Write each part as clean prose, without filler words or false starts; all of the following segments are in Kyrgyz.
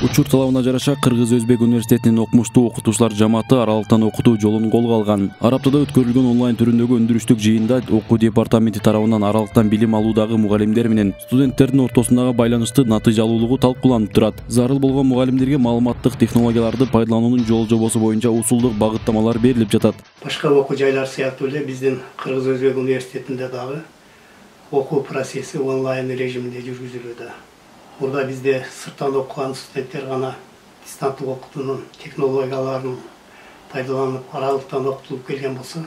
Учур талабына жараша Кыргыз-Өзбек университетинин окумуштуу окутуучулар жамааты аралыктан окутуу жолун колго алган. Ар аптада өткөрүлгөн онлайн түрүндөгү өндүрүштүк жыйында окуу департаменти тарабынан аралыктан билим алуудагы мугалимдер менен студенттердин ортосундагы байланышты натыйжалуулугу талкууланып турат. Зарыл болгон мугалимдерге маалыматтык технологияларды пайдалануунун жол-жобосу боюнча усулдук багыттамалар берилип жатат. Башка окуу жайлар сыяктуу эле биздин Кыргыз-Өзбек университетинде дагы окуу процесси онлайн режиминде жүргүзүлүүдө. Burada bizde sırttan okuyan stüdentler gana distantlıq okutunun teknologiyalarını пайдаланып аралыктан окутулуп келген болсо,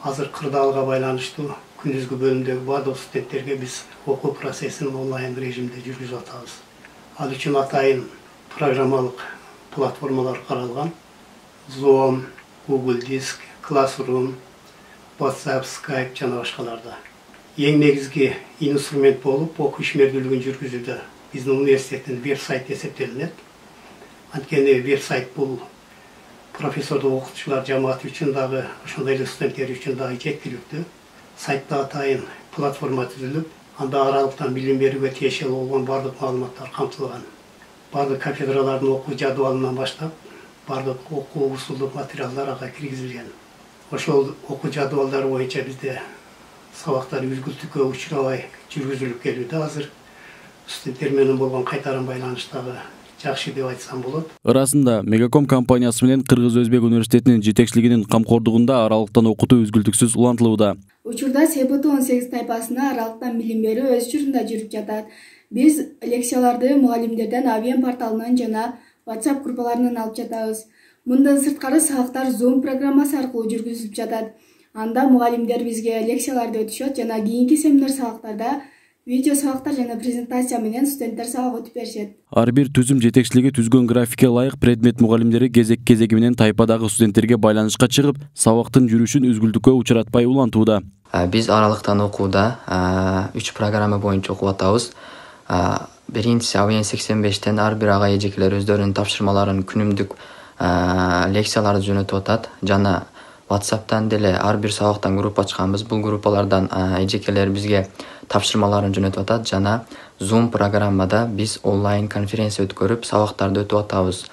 азыр кырдаалга байланыштуу күндүзгү бөлүмдөгү бардык студенттерге биз окуу процессин онлайн режимде жүргүзүп атабыз. Ал үчүн атайын программалык платформалар каралган. Zoom, Google Disk, Classroom, WhatsApp, Skype жана башкаларда. Эң негизги инструмент болуп окуу ишмердүүлүгүн жүргүзүүдө биздин университеттин веб-сайты эсептелинет. Анткени веб-сайт бул профессордук окутуучулар жамааты үчүн дагы, ошондой эле студенттер үчүн дагы жеткиликтүү. Сайтта атайын платформа түзүлүп, анда аралыктан билим берүүгө тиешелүү болгон бардык маалыматтар камтылган. Бардык кафедралардын окуу жадыбалынан баштап, бардык окуу усулдук материалдар ага киргизилген. Ошол окуу жадыбалдары боюнча бизде сабактар үзгүлтүккө учурабай жүргүзүлүп келүүдө. Азыр студенттер менен болгон кайтарым байланыштагы жакшы деп айтсам болот. Ырасында Мегаком компаниясы менен Кыргыз-Өзбек университетинин жетекчилигинин камкордугунда аралыктан окутуу үзгүлтүксүз улантылууда. Учурда СБТ-18 тайпасына аралыктан билим берүү өз учурунда жүрүп жатат. Биз лекцияларды мугалимдерден Авен порталынан жана WhatsApp группаларынан алып жатабыз. Мындан сырткары сабактар Zoom программасы аркылуу жүргүзүлүп жатат. Анда мугалимдер бизге лекцияларды өтүшөт жана кийинки семинар сабактарда видео сабактар жана презентация менен студенттер сабак өтүп беришет. Ар бир түзүм жетекчилиги түзгөн графикке ылайык предмет мугалимдери кезек-кезеги менен тайпадагы студенттерге байланышка чыгып, сабактын жүрүшүн үзгүлтүккө учуратпай улантууда. Биз аралыктан окууда 3 программа боюнча окуп атабыз. Биринчиси Авен 85тен ар бир ага эжекелер өздөрүнүн тапшырмаларын күнүмдүк лекцияларды жөнөтүп атат жана WhatsApp'tan деле ар бир сабактан группа ачканбыз. Бул группалардан эжекелер бизге тапшырмаларын жөнөтүп атат жана Zoom программада биз онлайн конференция өткөрүп сабактарды өтүп атабыз.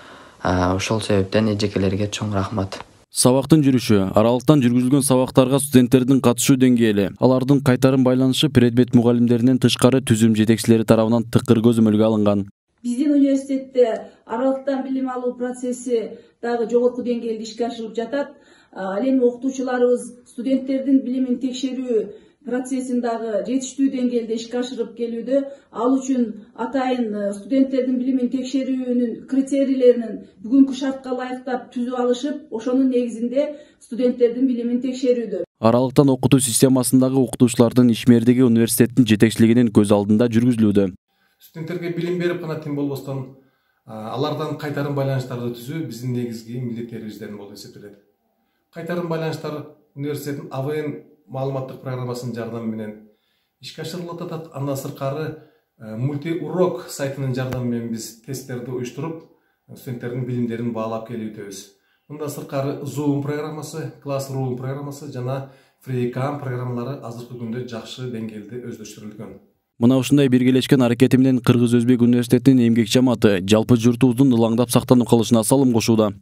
Ошол себептен эжекелерге чоң рахмат. Сабактын жүрүшү, аралыктан жүргүзүлгөн сабактарга студенттердин катышуу деңгээли, алардын кайтарым байланышы предмет мугалимдеринен тышкары түзүм жетекчилери тарабынан тыкыр көзөмөлгө алынган. Биздин университетте аралыктан билим алуу процесси дагы жогорку деңгээлде ишке ашырылып жатат. Ал эми окутуучуларыбыз студенттердин билимин текшерүү процессин дагы жетиштүү деңгээлде ишке ашырып келүүдө. Ал үчүн атайын студенттердин билимин текшерүүнүн критерийлерин бүгүнкү шартка ылайыктап түзүп алышып, ошонун негизинде студенттердин билимин текшерүүдө. Аралыктан окутуу системасындагы окутуучулардын ишмердиги университеттин жетекчилигинин көз алдында жүргүзүлүүдө. Студенттерге билим берип гана тим болбостон, алардан кайтарым байланыштарды түзүү биздин негизги милдеттерибизден болуп эсептелет. Кайтарым байланыштар университеттин Авен маалыматтык программасынын жардамы менен ишке ашырылып атат. Андан сырткары мультиурок сайтынын жардамы менен биз тесттерди уюштуруп, студенттердин билимдерин баалап келүүбүз. Мындан сырткары Zoom программасы, Classroom программасы жана FreeCam программалары азыркы күндө жакшы деңгээлде өздөштүрүлгөн. Мына ушундай биргелешкен аракети менен Кыргыз-Өзбек университетинин эмгек жамааты жалпы журтубуздун ылаңдап сактанып калышына салым кошууда.